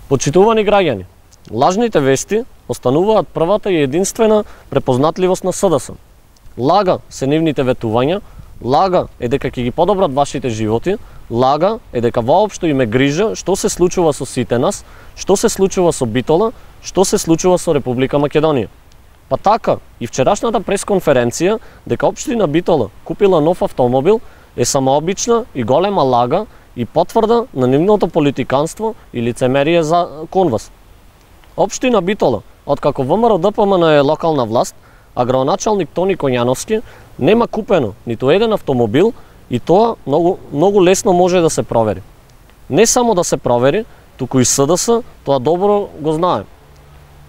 Почитувани граѓани, лажните вести остануваат првата и единствена препознатливост на СДС. Лага се нивните ветувања, лага е дека ќе ги подобрат вашите животи, лага е дека воопшто им е грижа што се случува со сите нас, што се случува со Битола, што се случува со Република Македонија. Па така, и вчерашната пресконференција дека општина Битола купила нов автомобил е самообична и голема лага и потврда на нивното политиканство и лицемерие кон вас. Општина Битола, откако ВМРО ДПМН е локална власт, а градоначалник Тони Коњановски нема купено ниту еден автомобил и тоа многу лесно може да се провери. Не само да се провери, туку и СДС тоа добро го знае.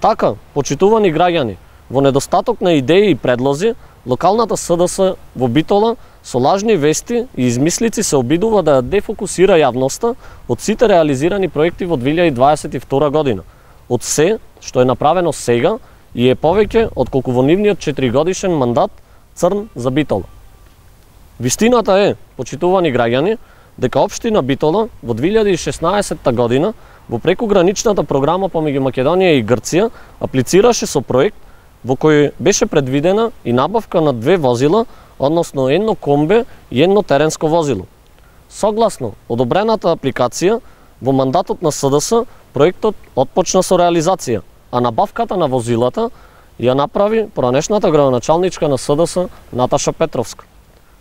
Така, почитувани граѓани, во недостаток на идеи и предлози, локалната СДС во Битола со лажни вести и измислици се обидува да ја дефокусира јавноста од сите реализирани проекти во 2022 година, од се што е направено сега и е повеќе отколку во нивниот 4-годишен мандат црн за Битола. Вистината е, почитувани граѓани, дека општина Битола во 2016 година во прекуграничната програма помеѓу Македонија и Грција аплицираше со проект во кој беше предвидена и набавка на 2 возила, односно едно комбе и едно теренско возило. Согласно одобрената апликација, во мандатот на СДС проектот отпочна со реализација, а набавката на возилата ја направи поранешната градоначалничка на СДС Наташа Петровска.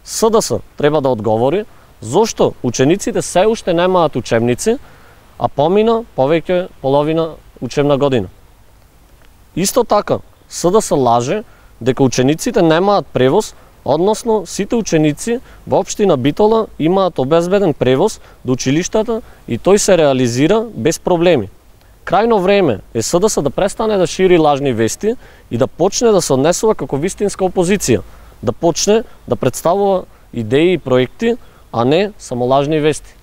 СДС треба да одговори зошто учениците се уште немаат учебници, а помина повеќе половина учебна година. Исто така, СДС лаже дека учениците немаат превоз, односно сите ученици во општина Битола имаат обезбеден превоз до училиштата и тој се реализира без проблеми. Крајно време е СДС да престане да шири лажни вести и да почне да се однесува како вистинска опозиција, да почне да представува идеи и проекти, а не само лажни вести.